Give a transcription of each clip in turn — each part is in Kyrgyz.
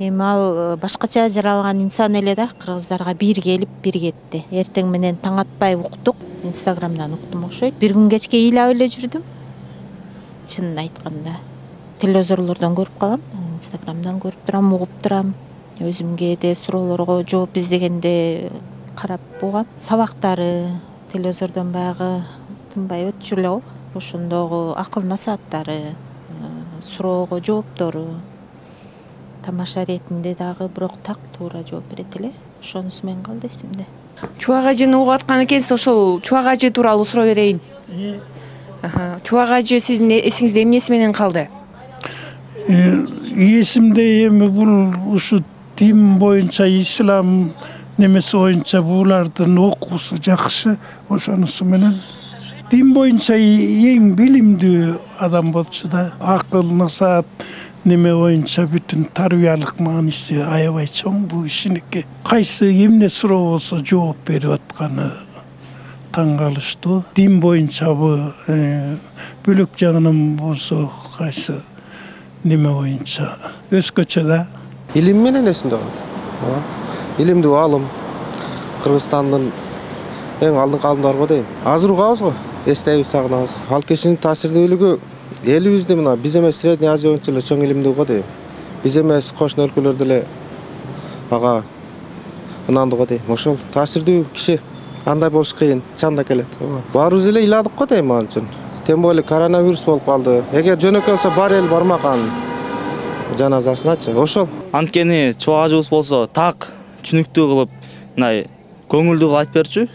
Эми ал башкача жаралган инсан эле да, кыргыздарга бир келип, бир кетти. Эртең менен таң атпай уктук, Инстаграмдан уктум окшойт. Бир күн кечке ыйлап эле жүрдүм. Чынын айтканда, телевизорлордон көрүп калам, Инстаграмдан көрүп турам, угуп турам. Өзүм кээде суроолорго жооп издегенде карап бугам. Сабактары телевизордон баягы тынбай өтчү эле го. Ошондогу акыл насааттары, суроого жооптору тамаша иретинде дагы бирок так туура жооп берет эле. Ошонусу менен калды эсимде. Чубак ажыны угуп аткан экенсиз, ошол Чубак ажы тууралуу суроо берейин. Чубак ажы сиздин эсиңизде эмнеси менен калды? Эсимде эми бул ушу дин боюнча, ислам немеси боюнча булардын окуусу жакшы. Ошонусу менен дин боюнча эң билимдүү адам болчу да. Акыл, насаат неме боюнча бүтүн тарбиялык мааниси аябай чоң бул кишиники. Кайсы эмне суроо болсо жооп берип атканы таң калыштуу. Дин боюнчабы, бөлөк жагынан болсо кайсы неме боюнча өзгөчө да. Илим менен эсимде калды. Илимдүү аалым, Кыргызстандын эң алдыңкы аалымдары дейм. Азыр угабыз го, эстейбиз, сагынабыз. Ал кишинин таасирдүүлүгү элибизде мына биз эмес Средний Азия боюнча эле чоң илимдүү го дейм. Биз эмес кошуна өлкөлөрдө эле ага ынандуу го дейм. Ошол таасирдүү киши андай болуш кыйын, чанда келет. Баарыбыз эле ыйладык го дейм ал үчүн. Тем более коронавирус болуп калды. Эгер жөнөкөй болсо бар эл бармак анын жаназасыначы. Ошол. Анткени чубак ажыбыз болсо так түшүнүктүү кылып, мындай көңүлдүү кылып айтып берчү.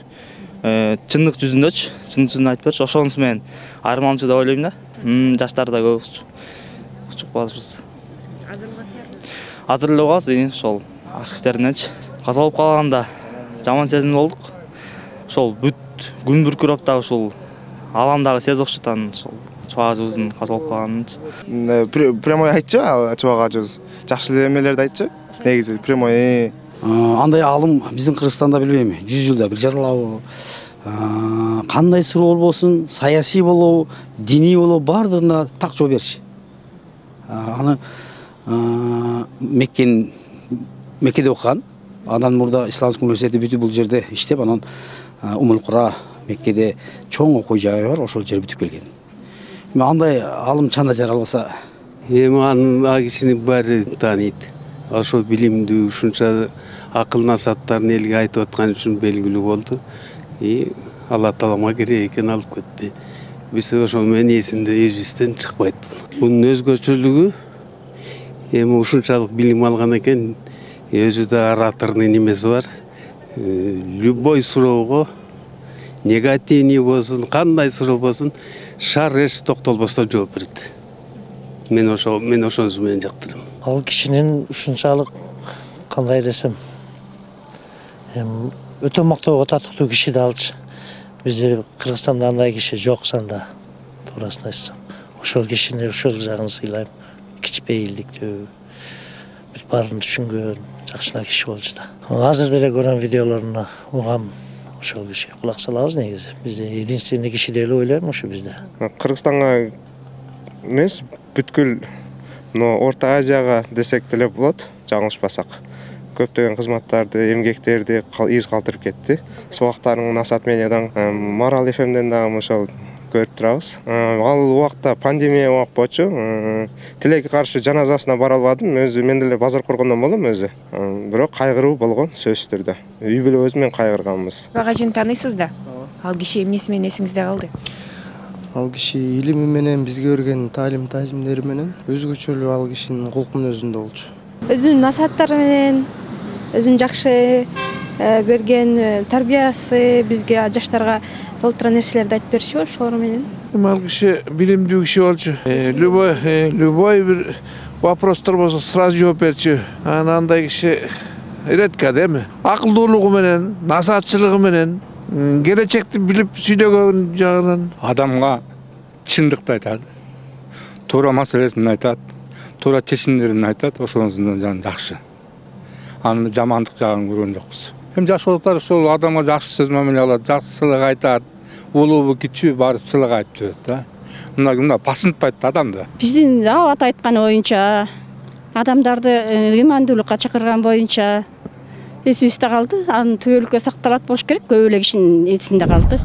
Чындык жүзүндөчү, чындык жүзүндө айтып берчү. Ошонусу менен айырмаланчу деп ойлойм да. Жаштар да көп укчуп калышыбыз. Азыр эле угабыз, ошол архивтериненчи. Каза болуп калганда жаман сезим болдук. Ошол бүт күн бүркүрөп дагы ушул ааламдагы сезип окшойт анын ошол чубак ажыбыздын каза болуп калганынчы. Прямой айтчы, чубак ажыбыз. Жакшы эмелерди айтчы. Негизи прямой. Андай аалым биздин Кыргызстанда билбейм, 100 жылда бир жаралабы, кандай суроо болбосун, саясий болобу, диний болобу, баардыгына так жооп берчү. Аны Меккеде окуган, андан мурда Исламдык университети бүтүп бул жерде иштеп, анан Умул-Кура Меккеде чоң окуу жайы бар, ошол жер бүтүп келген. Андай аалым чанда жаралбаса, эми аны кишини баары тааныйт. Ошол билимдүү, ушунча акыл насааттарын элге айтып аткан үчүн белгилүү болду. Алла Таалама керек экен алып кетти. Биз ошол менен эсимде эжибизден чыкпайт. Бунун өзгөчөлүгү эми ушунчалык билим алган экен, өзү да ораторный немеси бар. Любой суроого, негативный болсун, кандай суроо болсун, шар эч токтолбостон жооп берет. Мен ошонусу менен жактырам. Ал кишинин ушунчалык кандай десем, өтө мактоого татыктуу киши да алчы. Бизде Кыргызстанда андай киши жок санда, туурасын айтсам. Ошол кишини ошол жагын сыйлайм. Кичпейилдиктүү, бүт баарын түшүнгөн, жакшына киши болчу да. Азыр деле көргөн видеолоруна угам, ошол киши кулак салабыз негизи. Бизде единственный киши деп ойлойм ушу бизде. Кыргызстанга эмес, бүткүл Орто Азияга десек деле болот, жаңылышпасак. Көптөгөн кызматтарды, эмгектерди из калтырып кетти. Субактарыңын насаат медиадан, Марал ФМден дагы ошол көрүп турабыз. Ал убакта пандемия убак болчу. Тилекке каршы жаназасына бара албадым. Өзү мен деле базар коргондон болдум өзү. Бирок кайгыруу болгон сөзсүз түрдө. Үй бүлөбүз менен кайгырганбыз. Чубак ажыны тааныйсыз да? Ал киши эмнеси менен эсиңизде калды? Ал киши илими менен, бизге берген таалим-тажимдери менен өзгөчөлүү ал кишинин кулку мүнөзүндө болчу. Өзүнүн насааттары менен, өзүнүн жакшы берген тарбиясы бизге жаштарга толтура нерселерди айтып берчү, ошолор менен. Ал киши билимдүү киши болчу. Любой бир вопростор болсо сразу жооп берчү. Андай киши редко да эми. Акылдуулугу менен, насаатчылыгы менен, келечекти билип сүйлөгөн жагынан адамга чындыкты айтат. Туура маселесин айтат, туура чечимдерин айтат, ошонусунан жан жакшы. Анын жамандык жагын көргөн жокпуз. Эми жаш болуптар ошол адамга жакшы сөз мамиле кылат, жакшы сыйлык айтат. Улуубу, кичүүбү баары сыйлык айтып жүрөт да. Мына басынтпайт да адамды. Биздин абат айтканы боюнча адамдарды ыймандуулукка чакырган боюнча эсибизде калды. Анын түбөлүккө сакталат болуш керек. Көп эле кишинин эсинде калды.